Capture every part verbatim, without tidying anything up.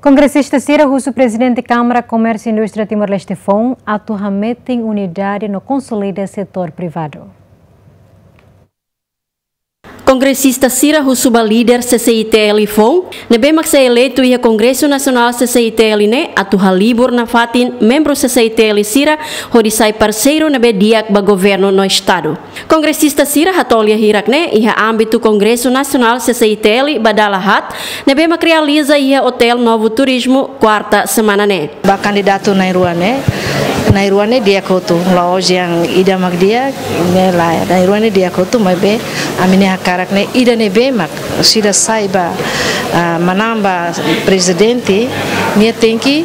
Kongresista sira husu Prezidente Kámara Komérsiu Indústria Timor-Leste foun atu hametin unidade no konsolida setór privadu. Kongresista sira husu ba líder C C I T L foun, ne'ebé mak sei eleitu iha Kongresu Nasionál C C I T L ne'e, atu halibur nafatin membru C C I T L sira hodi sai parseiru ne'ebé di'ak ba governu no estadu. Kongresista sira hato'o lia hirak ne'e iha ámbitu Kongresu Nasionál C C I T L ba dala haat, ne'ebé mak realiza iha Hotel Novo Turismo, kuarta semana ne'e. Ba kandidatu na'in-rua ne'e, na'in-rua ne'e di'ak hotu, la'ós yang ida mak di'ak, ne'e lae, na'in-rua ne'e di'ak hotu, maibé ami-nia hakarak ne'e ida ne'ebé mak, sira sai ba, ah, manán ba prezidente, nia tenke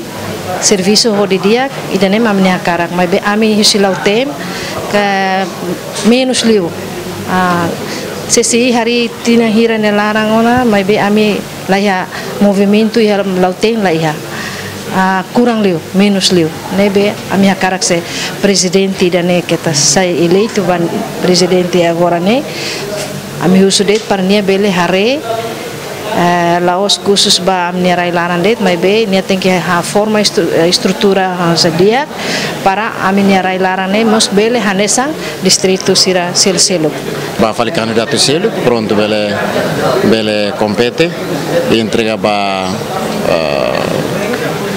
servisu ho di'ak, ida-ne'e mak ami-nia hakarak, maibé ami husi Lautém, ke menus liu. Ah, C C I harii tinan hira nia laran ona, maibé ami laiha movimentu iha Lautém laiha. Ah, kurang liu, menus liu. Ne'ebé ami hakarak se prezidente ida-ne'e keta sai eleitu ba prezidente agora ne'e. Ami husu de'it para nia bele haree, eh, la'ós khusus ba ami-nia rai-laran de'it, maibé nia tenke ha forma estru-, eh, estrutura, ah, sá di'ak, para ami-nia rai-laran ne'e mós bele hanesan distritu sira sel-seluk. Ba fali kandidatu seluk, prontu bele, bele kompete, entrega ba, eh,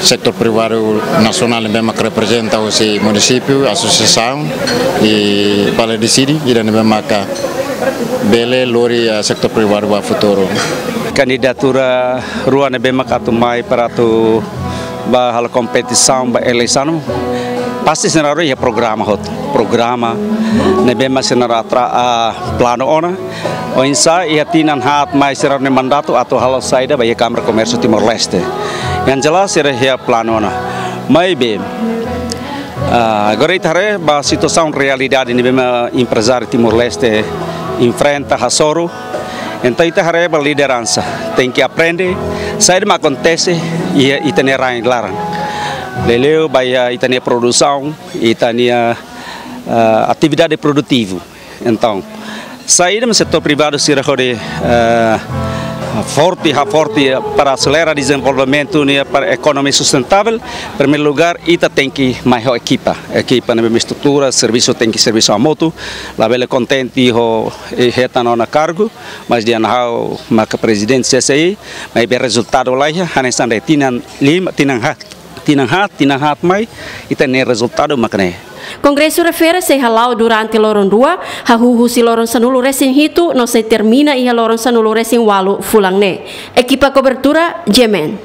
setór privadu nasionál ne'ebé mak reprezenta husi munisípiu, asosiasaun, i bele deside ida ne'ebé maka bele lori, eh, setór privadu ba futuru. Kandidatura rua ne'ebé mak atu mai para atu ba halo kompetisaun ba eleisaun, pasti sira iha programa hotu. Programa ne'ebé mak sira atra, ah, planu ona. Oinsá iha tinan haat mai sira-nia mandatu atu halo saida ba iha Kámara Komérsiu Timor-Leste. Yang jelas sira iha planu ona. Maibé, ah, agora ita haree ba situasaun realidade ne'ebé mak emprezáriu Timor-Leste enfrenta hasoru. Entaun ita haree ba lideransa tenke aprende saida mak akontese iha ita-nia rai-laran. Liuliu ba iha ita-nia produsaun, ita-nia, eh, atividade produtivu. Entaun, saida mak setór privadu sira hodi, eh, forte, haforte para aselera dezenvolvimentu nian para ekonomia sustentável. Primeiru lugar, ita tenke mai ho ekipa. Ekipa ne'ebé mak estrutura, servisu tenke servisu hamutuk. Labele kontente ho, eh, hetan ona kargu, mas dehan ha'u maka prezidente C C I, maibé rezultadu laiha, hanesan dehan tinan lima, tinan haat, tinan haat, tinan haat mai, ita-nia rezultadu mak ne'e. Kongresu refere sei hala'o durante loron rua, hahú husi loron sanulu-resin-hitu, no sei termina iha loron sanulu-resin-ualu fulan ne'e. Ekipa kobertura, G M N.